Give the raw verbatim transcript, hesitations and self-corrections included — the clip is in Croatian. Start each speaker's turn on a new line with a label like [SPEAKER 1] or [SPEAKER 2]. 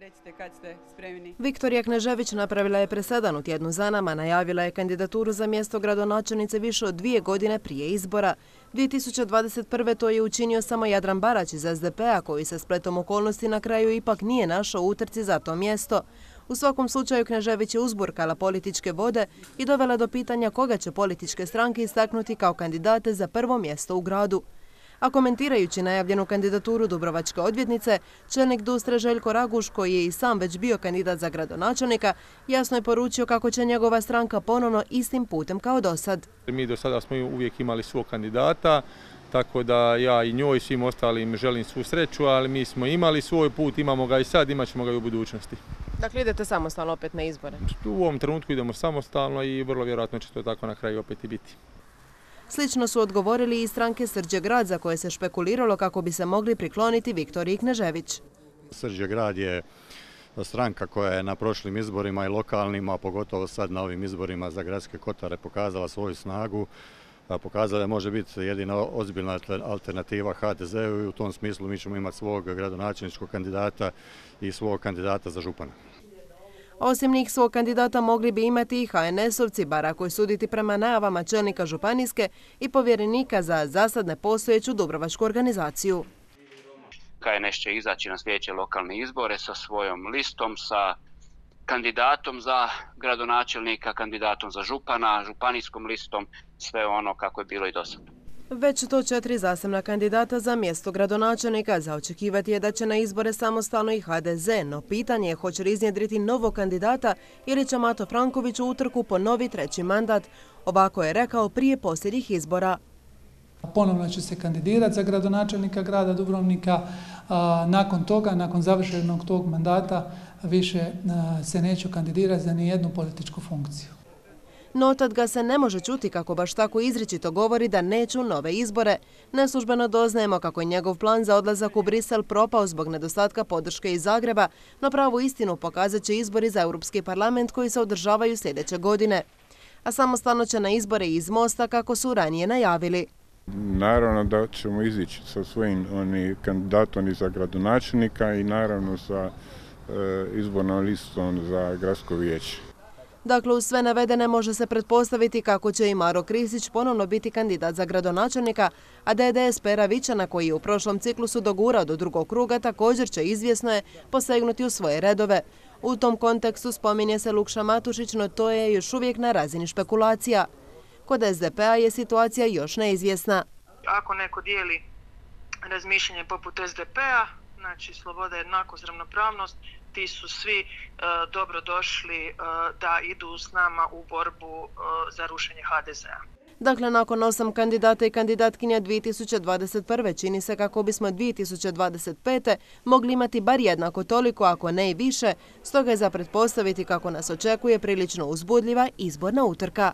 [SPEAKER 1] Recite kad ste spremni.
[SPEAKER 2] Viktorija Knežević napravila je presedan u tjednu za nama, najavila je kandidaturu za mjesto gradonačelnice više od dvije godine prije izbora. dvije tisuće dvadeset prve. to je učinio samo Jadran Barać iz es de pe a, koji se spletom okolnosti na kraju ipak nije našao u utrci za to mjesto. U svakom slučaju Knežević je uzburkala političke vode i dovela do pitanja koga će političke stranke istaknuti kao kandidate za prvo mjesto u gradu. A komentirajući najavljenu kandidaturu dubrovačke odvjetnice, čelnik Dustre Željko Raguš, koji je i sam već bio kandidat za gradonačelnika, jasno je poručio kako će njegova stranka ponovno istim putem kao do sad.
[SPEAKER 3] Mi do sada smo uvijek imali svog kandidata, tako da ja i njoj i svim ostalim želim svu sreću, ali mi smo imali svoj put, imamo ga i sad, imat ćemo ga i u budućnosti.
[SPEAKER 2] Dakle, idete samostalno opet na izbore?
[SPEAKER 3] U ovom trenutku idemo samostalno i vrlo vjerojatno će to tako na kraju opet i biti.
[SPEAKER 2] Slično su odgovorili i stranke Srđe grad, za koje se špekuliralo kako bi se mogli prikloniti Viktoriji Knežević.
[SPEAKER 4] Srđe grad je stranka koja je na prošlim izborima i lokalnima, pogotovo sad na ovim izborima za gradske kotare, pokazala svoju snagu. Pokazala je može biti jedina ozbiljna alternativa ha de zeu i u tom smislu mi ćemo imati svog gradonačelničkog kandidata i svog kandidata za župana.
[SPEAKER 2] Osim njih svog kandidata mogli bi imati i ha en esovci, bar ako je suditi prema najavama čelnika županijske i povjerenika za zasad nepostojeću dubrovačku organizaciju.
[SPEAKER 5] ha en es će izaći na sljedeće lokalne izbore sa svojom listom, sa kandidatom za gradonačelnika, kandidatom za župana, županijskom listom, sve ono kako je bilo i do sada.
[SPEAKER 2] Već to četiri zasebna kandidata za mjesto gradonačelnika. Za očekivati je da će na izbore samostalno i ha de ze, no pitanje je hoće li iznjedriti novog kandidata ili će Mato Franković u utrku ponovi treći mandat. Ovako je rekao prije posljednjih izbora.
[SPEAKER 6] Ponovno će se kandidirati za gradonačelnika grada Dubrovnika. Nakon toga, nakon završenog tog mandata, više se neću kandidirati za nijednu političku funkciju.
[SPEAKER 2] No tad ga se ne može čuti kako baš tako izričito govori da neće u nove izbore. Neslužbeno doznajemo kako je njegov plan za odlazak u Brisel propao zbog nedostatka podrške iz Zagreba, no pravu istinu pokazat će izbori za Europski parlament koji se održavaju sljedeće godine. A samostalno će na izbore iz Mosta kako su ranije najavili.
[SPEAKER 7] Naravno da ćemo izići sa svojim oni, kandidatom i za gradonačelnika i naravno sa e, izbornom listom za gradsko vijeće.
[SPEAKER 2] Dakle, uz sve navedene može se pretpostaviti kako će i Maro Kristić ponovno biti kandidat za gradonačelnika, a de de es Pera Vičana, koji je u prošlom ciklusu dogurao do drugog kruga, također će, izvjesno je, posegnuti u svoje redove. U tom kontekstu spominje se Lukša Matušić, no to je još uvijek na razini špekulacija. Kod es de pe a je situacija još neizvjesna.
[SPEAKER 8] Ako neko dijeli razmišljanje poput es de pe a, znači sloboda, jednakost, ravnopravnost, ti su svi e, dobro došli e, da idu s nama u borbu e, za rušenje ha de zea.
[SPEAKER 2] Dakle, nakon osam kandidata i kandidatkinja dvije tisuće dvadeset prve. čini se kako bismo dvije tisuće dvadeset pete. mogli imati bar jednako toliko, ako ne i više, stoga je za pretpostaviti kako nas očekuje prilično uzbudljiva izborna utrka.